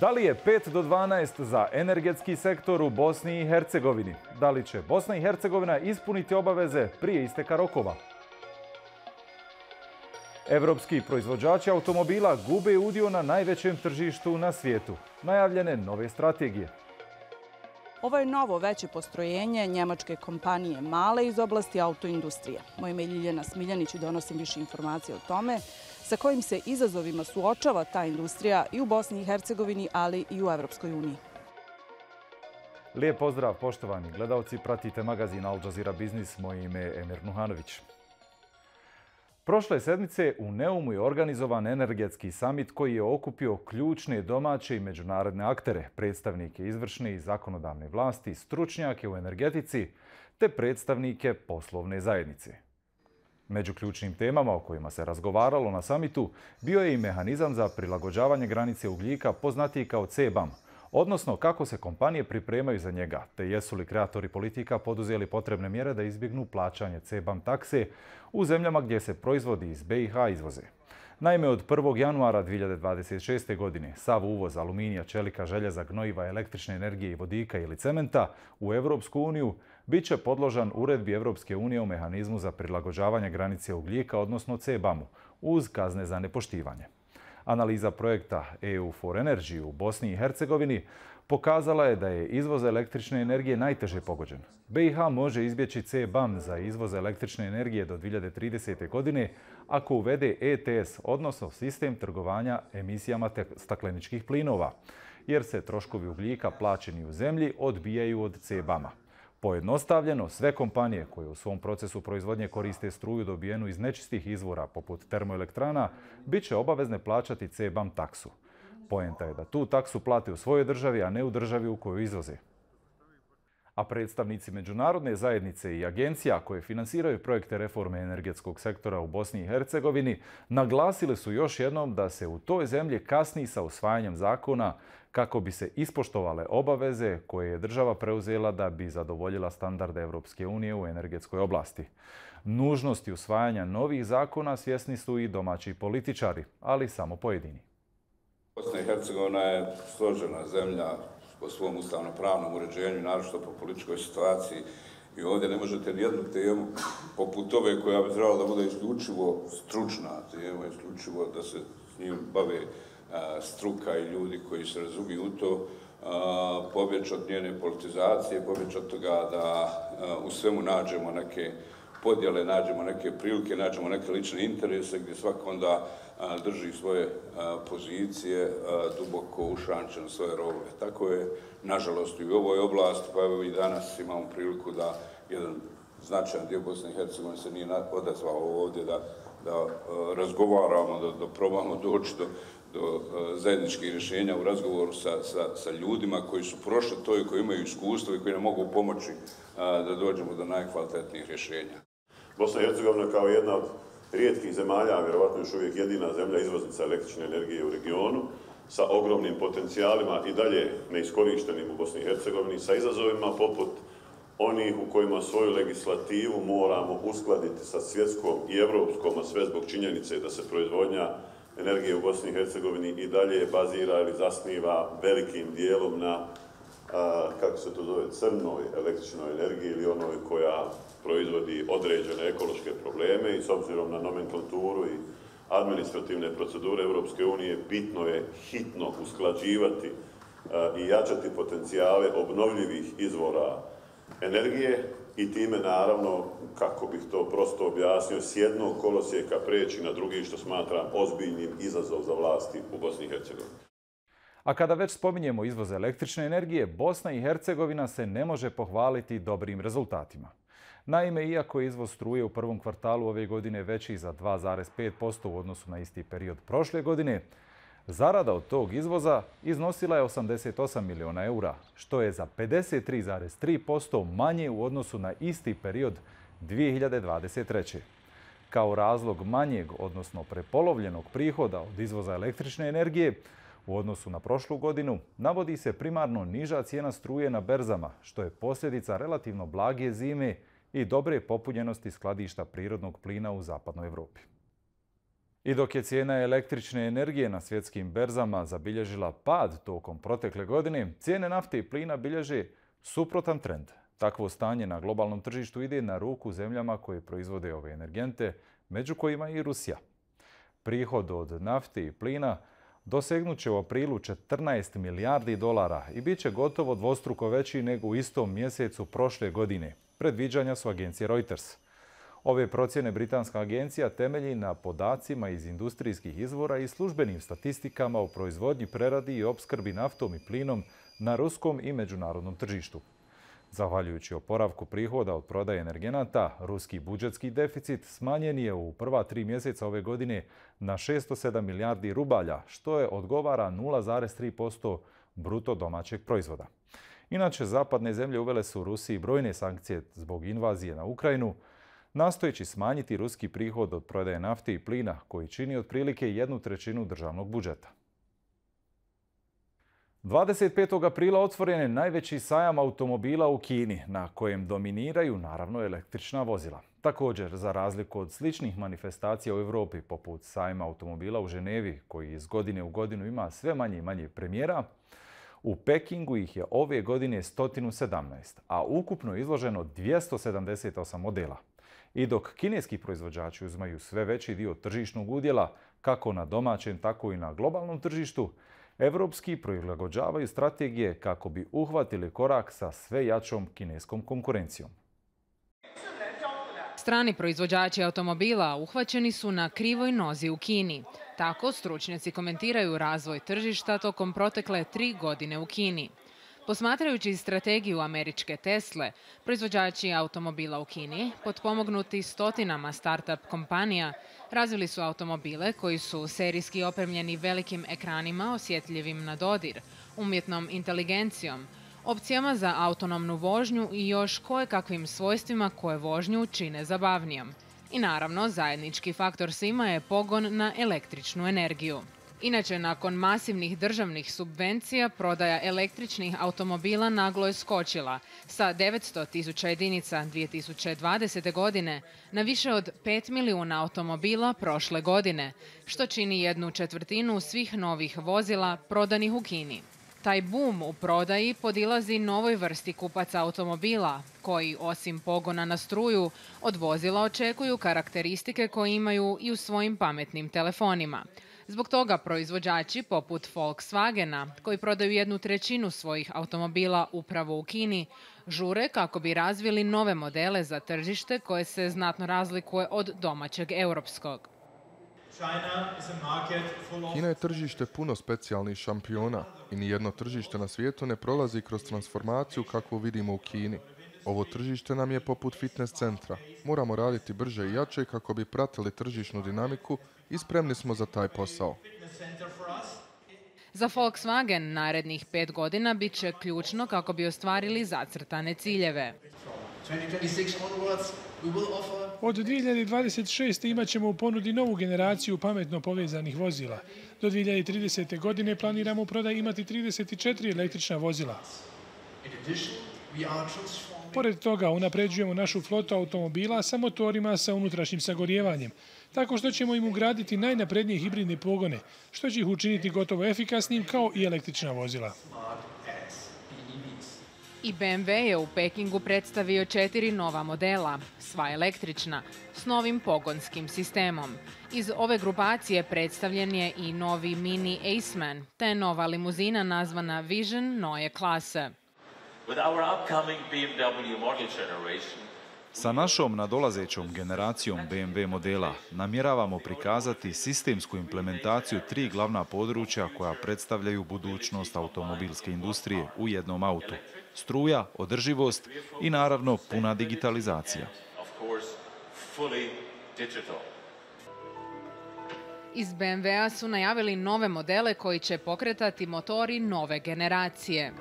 Da li je 5 do 12 za energetski sektor u Bosni i Hercegovini? Da li će Bosna i Hercegovina ispuniti obaveze prije isteka rokova? Evropski proizvođači automobila gube udio na najvećem tržištu na svijetu. Najavljene nove strategije. Ovo je novo veće postrojenje njemačke kompanije Male iz oblasti autoindustrije. Moje ime je Ljiljana Smiljanić i donosim više informacije o tome sa kojim se izazovima suočava ta industrija i u Bosni i Hercegovini, ali i u Evropskoj uniji. Lijep pozdrav, poštovani gledalci, pratite magazin Al Jazeera Biznis, moje ime je Emir Nuhanović. Prošle sedmice u Neumu je organizovan energetski samit koji je okupio ključne domaće i međunarodne aktere, predstavnike izvršne i zakonodavne vlasti, stručnjake u energetici te predstavnike poslovne zajednice. Među ključnim temama o kojima se razgovaralo na samitu bio je i mehanizam za prilagođavanje granice ugljika poznatiji kao CBAM, odnosno kako se kompanije pripremaju za njega, te jesu li kreatori politika poduzeli potrebne mjere da izbjegnu plaćanje CBAM takse u zemljama gdje se proizvodi iz BiH izvoze. Naime, od 1. januara 2026. godine sav uvoz aluminija, čelika, željeza, gnojiva, električne energije i vodika ili cementa u Europsku uniju bit će podložan uredbi Europske unije o mehanizmu za prilagođavanje granice ugljika, odnosno CBAM-u, uz kazne za nepoštivanje. Analiza projekta EU for Energy u Bosni i Hercegovini pokazala je da je izvoz električne energije najteže pogođen. BiH može izbjeći CBAM za izvoz električne energije do 2030. godine ako uvede ETS, odnosno sistem trgovanja emisijama stakleničkih plinova, jer se troškovi ugljika plaćeni u zemlji odbijaju od CBAM-a. Pojednostavljeno, sve kompanije koje u svom procesu proizvodnje koriste struju dobijenu iz nečistih izvora, poput termoelektrana, bit će obavezne plaćati CBAM taksu. Poenta je da tu taksu plate u svojoj državi, a ne u državi u kojoj izvoze. A predstavnici međunarodne zajednice i agencija koje finansiraju projekte reforme energetskog sektora u Bosni i Hercegovini naglasili su još jednom da se u toj zemlji kasni sa usvajanjem zakona kako bi se ispoštovale obaveze koje je država preuzela da bi zadovoljila standarde Europske unije u energetskoj oblasti. Nužnosti usvajanja novih zakona svjesni su i domaći političari, ali samo pojedini. Bosna i Hercegovina je složena zemlja po svom ustavno-pravnom uređenju, naročito po političkoj situaciji. I ovdje ne možete nijednu temu poput ove koja bi trebala da bude isključivo stručna tema, isključivo da se s njim bave struka i ljudi koji se razumiju u to, pobjeći od njene politizacije, pobjeći od toga da u svemu nađemo neke podjele, nađemo neke prilike, nađemo neke lične interese gdje svako onda drži svoje pozicije duboko ušančen u svoje rovove. Tako je, nažalost, i u ovoj oblasti, pa evo i danas imamo priliku da jedan značajan dio Bosne i Hercegovine se nije odazvao ovdje da razgovaramo, da probamo doći do zajedničkih rješenja u razgovoru sa ljudima koji su prošli to i koji imaju iskustvo i koji nam mogu pomoći da dođemo do najkvalitetnijih rješenja. Bosna i Hercegovina kao jedna od rijetkih zemalja, vjerovatno još uvijek jedina zemlja izvoznica električne energije u regionu, sa ogromnim potencijalima i dalje neiskorištenim u Bosni i Hercegovini, sa izazovima poput onih u kojima svoju legislativu moramo uskladiti sa svjetskom i evropskom, a sve zbog činjenice da se proizvodnja energije u Bosni i Hercegovini i dalje bazira ili zasniva velikim dijelom na, kako se to zove, crnoj električnoj energiji ili onoj koja proizvodi određene ekološke probleme i s obzirom na nomenklaturu i administrativne procedure Europske unije bitno je hitno usklađivati i jačati potencijale obnovljivih izvora energije i time naravno, kako bih to prosto objasnio, s jednog kolosijeka preći na drugi, što smatram ozbiljnim izazov za vlasti u Bosni i Hercegovini. A kada već spominjemo izvoz električne energije, Bosna i Hercegovina se ne može pohvaliti dobrim rezultatima. Naime, iako je izvoz struje u prvom kvartalu ove godine veći za 2,5% u odnosu na isti period prošle godine, zarada od tog izvoza iznosila je 88 miliona eura, što je za 53,3% manje u odnosu na isti period 2023. Kao razlog manjeg, odnosno prepolovljenog prihoda od izvoza električne energije, U odnosu na prošlu godinu navodi se primarno niža cijena struje na berzama, što je posljedica relativno blage zime i dobre popunjenosti skladišta prirodnog plina u zapadnoj Europi. I dok je cijena električne energije na svjetskim berzama zabilježila pad tokom protekle godine, cijene nafte i plina bilježe suprotan trend. Takvo stanje na globalnom tržištu ide na ruku zemljama koje proizvode ove energente, među kojima i Rusija. Prihod od nafte i plina dosegnut će u aprilu 14 milijardi dolara i bit će gotovo dvostruko veći nego u istom mjesecu prošle godine. Predviđanja su agencije Reuters. Ove procjene britanska agencija temelji na podacima iz industrijskih izvora i službenim statistikama o proizvodnji, preradi i opskrbi naftom i plinom na ruskom i međunarodnom tržištu. Zahvaljujući oporavku prihoda od prodaje energenata, ruski budžetski deficit smanjen je u prva 3 mjeseca ove godine na 607 milijardi rubalja, što je odgovara 0,3% bruto domaćeg proizvoda. Inače, zapadne zemlje uvele su Rusiji brojne sankcije zbog invazije na Ukrajinu, nastojeći smanjiti ruski prihod od prodaje nafte i plina, koji čini otprilike 1/3 državnog budžeta. 25. aprila otvoren je najveći sajam automobila u Kini, na kojem dominiraju naravno električna vozila. Također, za razliku od sličnih manifestacija u Europi, poput sajma automobila u Ženevi, koji iz godine u godinu ima sve manje i manje premijera, u Pekingu ih je ove godine 117, a ukupno izloženo 278 modela. I dok kineski proizvođači uzimaju sve veći dio tržišnog udjela, kako na domaćem, tako i na globalnom tržištu, evropski prilagođavaju strategije kako bi uhvatili korak sa sve jačom kineskom konkurencijom. Strani proizvođači automobila uhvaćeni su na krivoj nozi u Kini. Tako stručnjaci komentiraju razvoj tržišta tokom protekle 3 godine u Kini. Posmatrajući strategiju američke Tesle, proizvođači automobila u Kini, potpomognuti stotinama start-up kompanija, razvili su automobile koji su serijski opremljeni velikim ekranima osjetljivim na dodir, umjetnom inteligencijom, opcijama za autonomnu vožnju i još kojekakvim svojstvima koje vožnju čine zabavnijom. I naravno, zajednički faktor svima je pogon na električnu energiju. Inače, nakon masivnih državnih subvencija, prodaja električnih automobila naglo je skočila sa 900.000 jedinica 2020. godine na više od 5 milijuna automobila prošle godine, što čini 1/4 svih novih vozila prodanih u Kini. Taj boom u prodaji podilazi novoj vrsti kupaca automobila, koji osim pogona na struju od vozila očekuju karakteristike koje imaju i u svojim pametnim telefonima. Zbog toga proizvođači poput Volkswagena, koji prodaju 1/3 svojih automobila upravo u Kini, žure kako bi razvili nove modele za tržište koje se znatno razlikuje od domaćeg europskog. Kina je tržište puno specijalnih šampiona i nijedno tržište na svijetu ne prolazi kroz transformaciju kakvu vidimo u Kini. Ovo tržište nam je poput fitness centra. Moramo raditi brže i jače kako bi pratili tržišnu dinamiku i spremni smo za taj posao. Za Volkswagen narednih 5 godina bit će ključno kako bi ostvarili zacrtane ciljeve. Od 2026. imat ćemo u ponudi novu generaciju pametno povezanih vozila. Do 2030. godine planiramo u prodaji imati 34 električna vozila. Pored toga, unapređujemo našu flotu automobila sa motorima sa unutrašnjim sagorijevanjem, tako što ćemo im ugraditi najnaprednije hibridne pogone, što će ih učiniti gotovo efikasnim kao i električna vozila. I BMW je u Pekingu predstavio 4 nova modela, sva električna, s novim pogonskim sistemom. Iz ove grupacije predstavljen je i novi Mini Aceman, te nova limuzina nazvana Vision Neue Klasse. Sa našom nadolazećom generacijom BMW modela namjeravamo prikazati sistemsku implementaciju 3 glavna područja koja predstavljaju budućnost automobilske industrije u jednom autu. Struja, održivost i naravno puna digitalizacija. Iz BMW-a su najavili nove modele koji će pokretati motori nove generacije.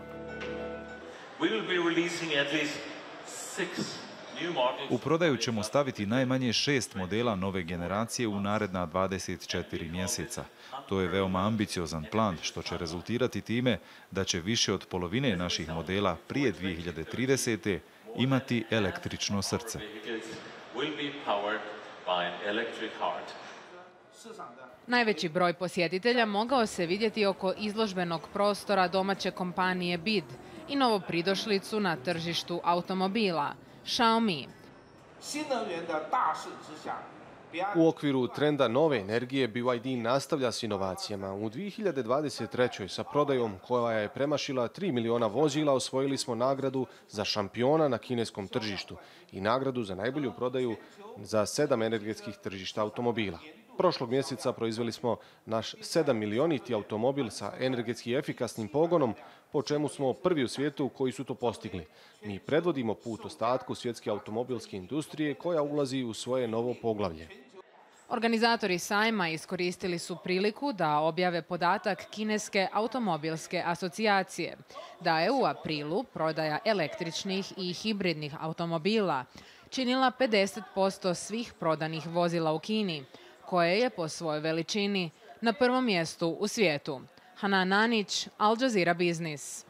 U prodaju ćemo staviti najmanje 6 modela nove generacije u naredna 24 mjeseca. To je veoma ambiciozan plan, što će rezultirati time da će više od polovine naših modela prije 2030. imati električno srce. Najveći broj posjetitelja mogao se vidjeti oko izložbenog prostora domaće kompanije BID i novopridošlicu na tržištu automobila, Xiaomi. U okviru trenda nove energije BYD nastavlja s inovacijama. U 2023. sa prodajom koja je premašila 3 miliona vozila osvojili smo nagradu za šampiona na kineskom tržištu i nagradu za najbolju prodaju za 7 energetskih tržišta automobila. Prošlog mjeseca proizveli smo naš 7 milioniti automobil sa energetski efikasnim pogonom, po čemu smo prvi u svijetu koji su to postigli. Mi predvodimo put ostatku svjetske automobilske industrije koja ulazi u svoje novo poglavlje. Organizatori sajma iskoristili su priliku da objave podatak Kineske automobilske asocijacije, da je u aprilu prodaja električnih i hibridnih automobila činila 50% svih prodanih vozila u Kini, koje je po svojoj veličini na prvom mjestu u svijetu. Hanan Anić, Al Jazeera Business.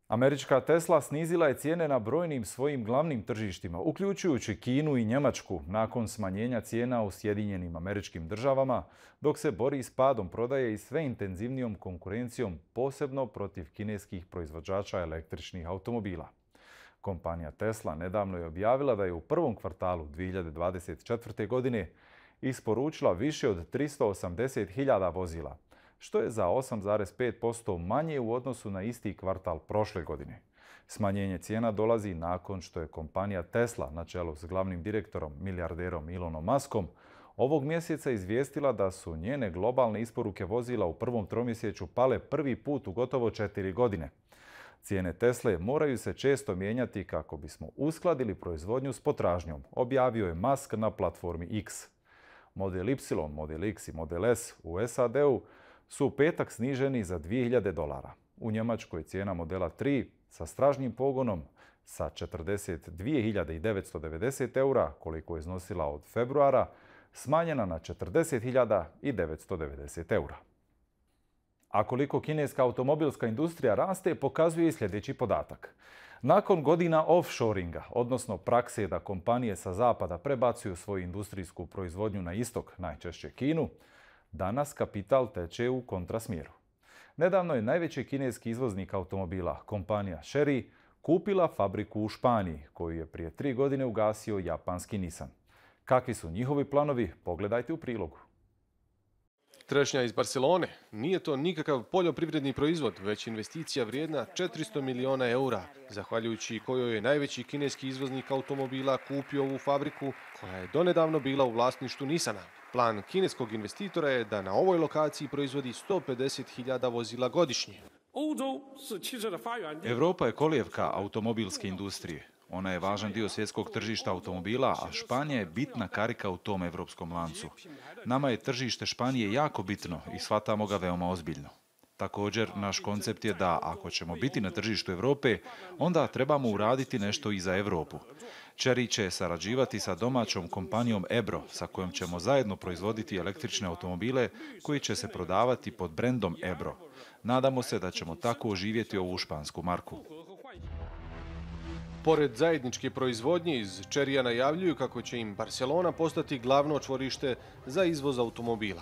Američka Tesla snizila je cijene na brojnim svojim glavnim tržištima, uključujući Kinu i Njemačku, nakon smanjenja cijena u Sjedinjenim Američkim Državama, dok se bori s padom prodaje i sve intenzivnijom konkurencijom, posebno protiv kineskih proizvođača električnih automobila. Kompanija Tesla nedavno je objavila da je u prvom kvartalu 2024. godine isporučila više od 380.000 vozila, što je za 8,5% manje u odnosu na isti kvartal prošle godine. Smanjenje cijena dolazi nakon što je kompanija Tesla, na čelu s glavnim direktorom, milijarderom Elonom Muskom, ovog mjeseca izvijestila da su njene globalne isporuke vozila u prvom tromjesečju pale prvi put u gotovo 4 godine. Cijene Tesle moraju se često mijenjati kako bismo uskladili proizvodnju s potražnjom, objavio je Musk na platformi X. Model Y, Model X i Model S u SAD-u su u petak sniženi za $2.000. U Njemačkoj cijena modela 3 sa stražnjim pogonom sa 42.990 eura, koliko je iznosila od februara, smanjena na 40.990 eura. A koliko kineska automobilska industrija raste, pokazuje i sljedeći podatak. Nakon godina offshoringa, odnosno prakse da kompanije sa zapada prebacuju svoju industrijsku proizvodnju na istok, najčešće Kinu, danas kapital teče u kontrasmjeru. Nedavno je najveći kineski izvoznik automobila, kompanija Chery, kupila fabriku u Španiji, koju je prije 3 godine ugasio japanski Nissan. Kakvi su njihovi planovi? Pogledajte u prilogu. Trešnja iz Barcelone nije to nikakav poljoprivredni proizvod, već investicija vrijedna 400 miliona eura, zahvaljujući kojoj je najveći kineski izvoznik automobila kupio ovu fabriku koja je donedavno bila u vlasništvu Nissana. Plan kineskog investitora je da na ovoj lokaciji proizvodi 150.000 vozila godišnje. Europa je kolijevka automobilske industrije. Ona je važan dio svjetskog tržišta automobila, a Španija je bitna karika u tom evropskom lancu. Nama je tržište Španije jako bitno i shvatamo ga veoma ozbiljno. Također, naš koncept je da ako ćemo biti na tržištu Europe, onda trebamo uraditi nešto i za Europu. Chery će sarađivati sa domaćom kompanijom Ebro, sa kojom ćemo zajedno proizvoditi električne automobile koji će se prodavati pod brendom Ebro. Nadamo se da ćemo tako oživjeti ovu špansku marku. Pored zajedničke proizvodnje, iz Cherrya najavljuju kako će im Barcelona postati glavno čvorište za izvoz automobila.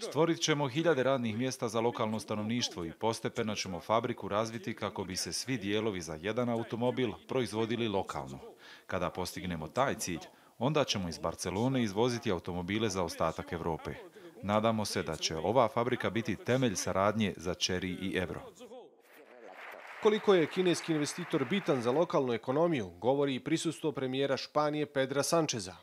Stvorit ćemo 1000 radnih mjesta za lokalno stanovništvo i postepeno ćemo fabriku razviti kako bi se svi dijelovi za jedan automobil proizvodili lokalno. Kada postignemo taj cilj, onda ćemo iz Barcelone izvoziti automobile za ostatak Europe. Nadamo se da će ova fabrika biti temelj saradnje za Chery i Ebro. Koliko je kineski investitor bitan za lokalnu ekonomiju, govori i prisustvo premijera Španije Pedra Sancheza.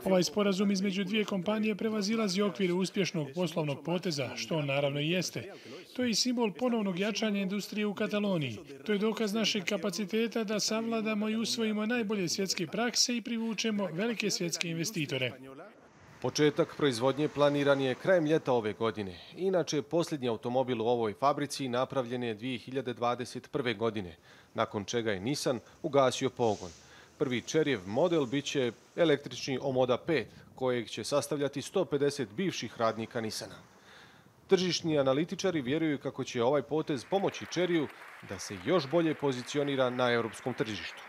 Ovaj sporazum između dvije kompanije prevazilazi okvire uspješnog poslovnog poteza, što on naravno i jeste. To je i simbol ponovnog jačanja industrije u Kataloniji. To je dokaz našeg kapaciteta da savladamo i usvojimo najbolje svjetske prakse i privučemo velike svjetske investitore. Početak proizvodnje planiran je krajem ljeta ove godine. Inače, posljednji automobil u ovoj fabrici napravljen je 2021. godine, nakon čega je Nissan ugasio pogon. Prvi Cheryjev model biće električni Omoda 5, kojeg će sastavljati 150 bivših radnika Nissana. Tržišni analitičari vjeruju kako će ovaj potez pomoći Cheryju da se još bolje pozicionira na europskom tržištu.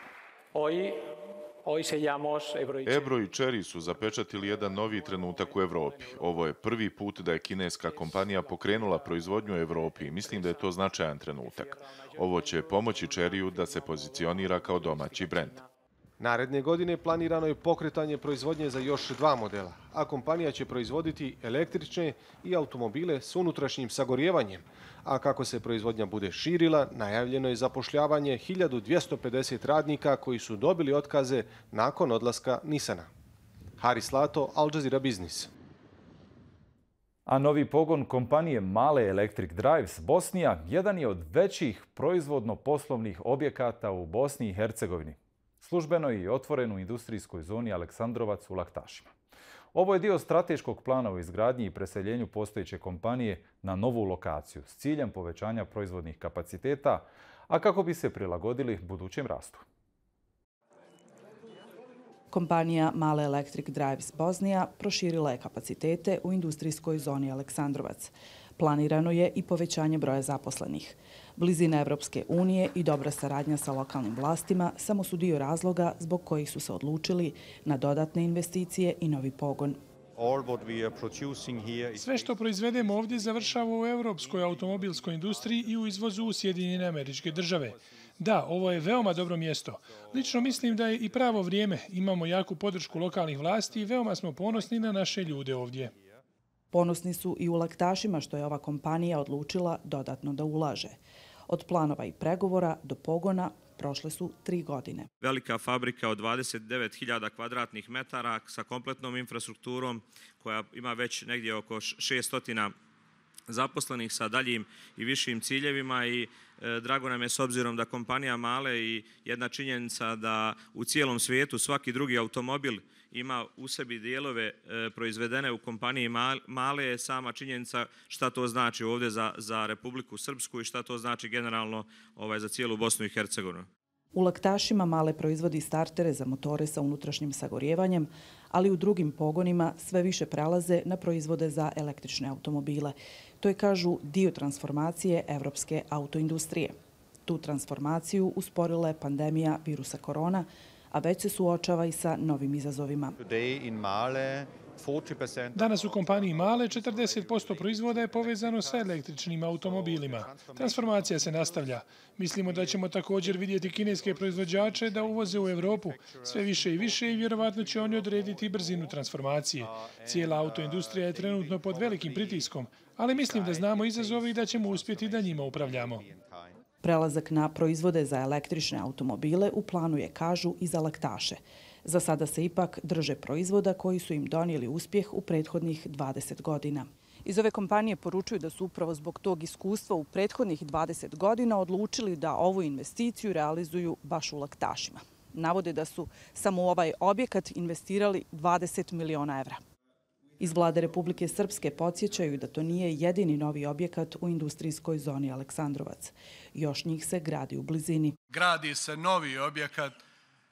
Ebro i Chery su zapečatili jedan novi trenutak u Evropi. Ovo je prvi put da je kineska kompanija pokrenula proizvodnju u Evropi i mislim da je to značajan trenutak. Ovo će pomoći Cheryju da se pozicionira kao domaći brend. Naredne godine planirano je pokretanje proizvodnje za još 2 modela, a kompanija će proizvoditi električne i automobile s unutrašnjim sagorjevanjem. A kako se proizvodnja bude širila, najavljeno je zapošljavanje 1250 radnika koji su dobili otkaze nakon odlaska Nissana. Haris Lato, Al Jazeera Biznis. A novi pogon kompanije Male Electric Drives Bosnija jedan je od većih proizvodno-poslovnih objekata u Bosni i Hercegovini. Službeno i otvoren u industrijskoj zoni Aleksandrovac u Laktašima. Ovo je dio strateškog plana u izgradnji i preseljenju postojeće kompanije na novu lokaciju s ciljem povećanja proizvodnih kapaciteta, a kako bi se prilagodili budućem rastu. Kompanija Male Electric Drives Bosnija proširila je kapacitete u industrijskoj zoni Aleksandrovac. Planirano je i povećanje broja zaposlenih. Blizina Evropske unije i dobra saradnja sa lokalnim vlastima samo su dio razloga zbog kojih su se odlučili na dodatne investicije i novi pogon. Sve što proizvedemo ovdje završava u europskoj automobilskoj industriji i u izvozu u Sjedinjene Američke Države. Da, ovo je veoma dobro mjesto. Lično mislim da je i pravo vrijeme. Imamo jaku podršku lokalnih vlasti i veoma smo ponosni na naše ljude ovdje. Ponosni su i u Laktašima što je ova kompanija odlučila dodatno da ulaže. Od planova i pregovora do pogona prošle su 3 godine. Velika fabrika od 29.000 kvadratnih metara sa kompletnom infrastrukturom koja ima već negdje oko 600 zaposlenih sa daljim i višim ciljevima i drago nam je s obzirom da kompanija Male i jedna činjenica da u cijelom svijetu svaki drugi automobil ima u sebi dijelove proizvedene u kompaniji Male je sama činjenica šta to znači ovdje za Republiku Srpsku i šta to znači generalno za cijelu Bosnu i Hercegovinu. U Laktašima Male proizvodi startere za motore sa unutrašnjim sagorjevanjem, ali u drugim pogonima sve više prelaze na proizvode za električne automobile. To je, kažu, dio transformacije evropske autoindustrije. Tu transformaciju usporila je pandemija virusa korona, a već se suočava i sa novim izazovima. Danas u kompaniji Male 40% proizvoda je povezano sa električnim automobilima. Transformacija se nastavlja. Mislimo da ćemo također vidjeti kineske proizvođače da uvoze u Evropu sve više i više i vjerovatno će oni odrediti brzinu transformacije. Cijela autoindustrija je trenutno pod velikim pritiskom, ali mislim da znamo izazove i da ćemo uspjeti da njima upravljamo. Prelazak na proizvode za električne automobile u planu je, kažu, i za Laktaše. Za sada se ipak drže proizvoda koji su im donijeli uspjeh u prethodnih 20 godina. Iz ove kompanije poručuju da su upravo zbog tog iskustva u prethodnih 20 godina odlučili da ovu investiciju realizuju baš u Laktašima. Navode da su samo u ovaj objekat investirali 20 miliona evra. Iz vlade Republike Srpske podsjećaju da to nije jedini novi objekat u industrijskoj zoni Aleksandrovac. Još njih se gradi u blizini. Gradi se novi objekat,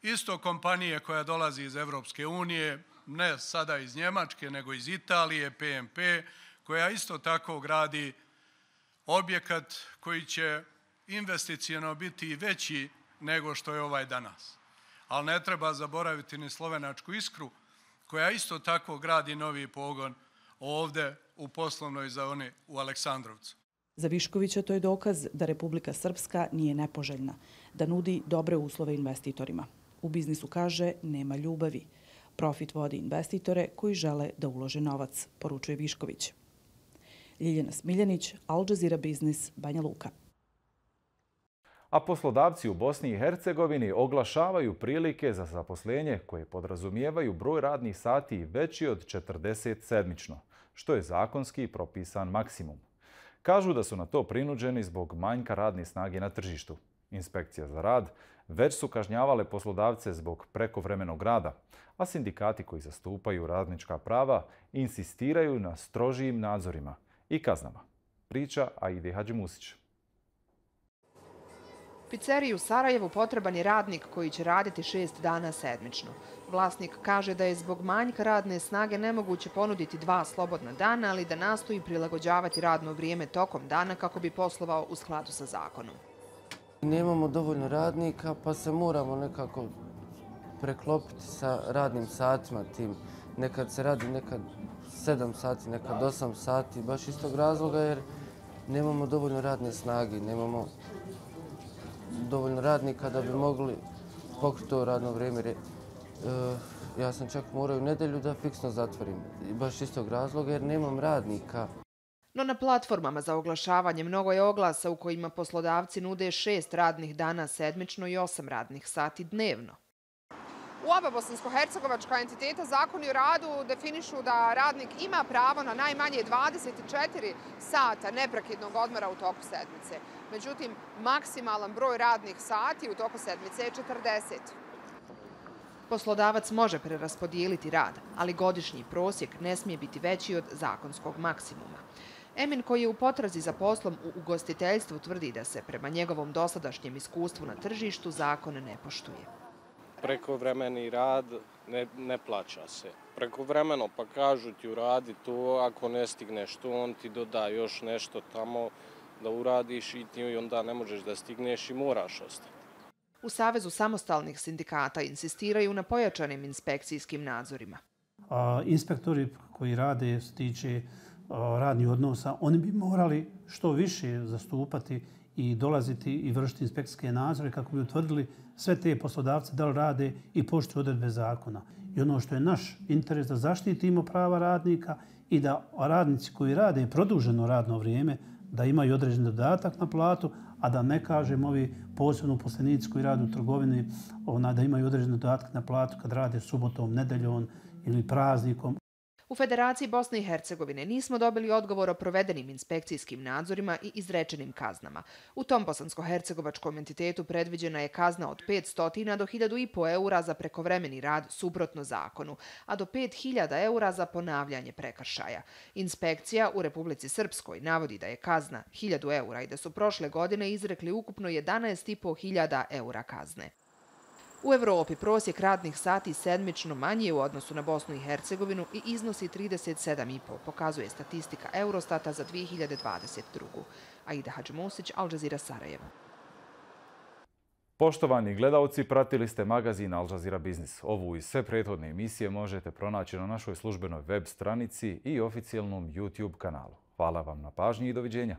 isto kompanije koja dolazi iz Evropske unije, ne sada iz Njemačke, nego iz Italije, PMP, koja isto tako gradi objekat koji će investiciono biti veći nego što je ovaj danas. Ali ne treba zaboraviti ni slovenačku Iskru, koja isto tako gradi novi pogon ovdje u poslovnoj zoni u Aleksandrovcu. Za Viškovića to je dokaz da Republika Srpska nije nepoželjna, da nudi dobre uslove investitorima. U biznisu, kaže, nema ljubavi. Profit vodi investitore koji žele da ulože novac, poručuje Višković. Ljiljana Smiljanić, Al Jazeera Biznis, Banja Luka. A poslodavci u Bosni i Hercegovini oglašavaju prilike za zaposlenje koje podrazumijevaju broj radnih sati veći od 40 sedmično, što je zakonski propisan maksimum. Kažu da su na to prinuđeni zbog manjka radne snage na tržištu. Inspekcija za rad već su kažnjavale poslodavce zbog prekovremenog rada, a sindikati koji zastupaju radnička prava insistiraju na strožijim nadzorima i kaznama. Priča Aide Hadžimusić. Pizzeriji u Sarajevu potreban je radnik koji će raditi 6 dana sedmično. Vlasnik kaže da je zbog manjka radne snage nemoguće ponuditi 2 slobodna dana, ali da nastoji prilagođavati radno vrijeme tokom dana kako bi poslovao u skladu sa zakonom. Nemamo dovoljno radnika, pa se moramo nekako preklopiti sa radnim satima tim. Nekad se radi, nekad 7 sati, nekad 8 sati, baš iz tog razloga jer nemamo dovoljno radne snage, nemamo dovoljno radnika da bi mogli pokriti to radno vrijeme. Ja sam čak morao u nedjelju da fiksno zatvorim, baš iz tog razloga jer nemam radnika. No na platformama za oglašavanje mnogo je oglasa u kojima poslodavci nude 6 radnih dana sedmično i 8 radnih sati dnevno. U oba bosansko-hercegovačka entiteta zakoni o radu definišu da radnik ima pravo na najmanje 24 sata neprekidnog odmora u toku sedmice. Međutim, maksimalan broj radnih sati u toku sedmice je 40. Poslodavac može preraspodijeliti rad, ali godišnji prosjek ne smije biti veći od zakonskog maksimuma. Emin, koji je u potrazi za poslom u ugostiteljstvu, tvrdi da se prema njegovom dosadašnjem iskustvu na tržištu zakon ne poštuje. Prekovremeni rad ne plaća se. Prekovremeno pa kažu ti uradi to, ako ne stigneš to, on ti doda još nešto tamo da uradiš i ti onda ne možeš da stigneš i moraš ostati. U Savezu samostalnih sindikata insistiraju na pojačanim inspekcijskim nadzorima. Inspektori koji rade što tiče radnih odnosa, oni bi morali što više zastupati i dolaziti i vršiti inspekcijske nadzore kako bi utvrdili sve te poslodavce da li rade i poštuju odredbe zakona. I ono što je naš interes da zaštitimo prava radnika i da radnici koji rade produženo radno vrijeme da imaju određen dodatak na platu, a da ne kažem ovi posebno uposlenici koji rade u trgovini da imaju određen dodatak na platu kad rade subotom, nedeljom ili praznikom. U Federaciji Bosne i Hercegovine nismo dobili odgovor o provedenim inspekcijskim nadzorima i izrečenim kaznama. U tom bosansko-hercegovačkom entitetu predviđena je kazna od 500 do 1.500 eura za prekovremeni rad suprotno zakonu, a do 5.000 eura za ponavljanje prekršaja. Inspekcija u Republici Srpskoj navodi da je kazna 1.000 eura i da su prošle godine izrekli ukupno 11.500 eura kazne. U Evropi prosjek radnih sati sedmično manji u odnosu na Bosnu i Hercegovinu i iznosi 37,5, pokazuje statistika Eurostata za 2022. Aida Hadžimusić, Al Jazeera, Sarajevo. Poštovani gledalci, pratili ste magazin Al Jazeera Biznis. Ovu i sve prethodne emisije možete pronaći na našoj službenoj web stranici i oficijalnom YouTube kanalu. Hvala vam na pažnji i doviđenja.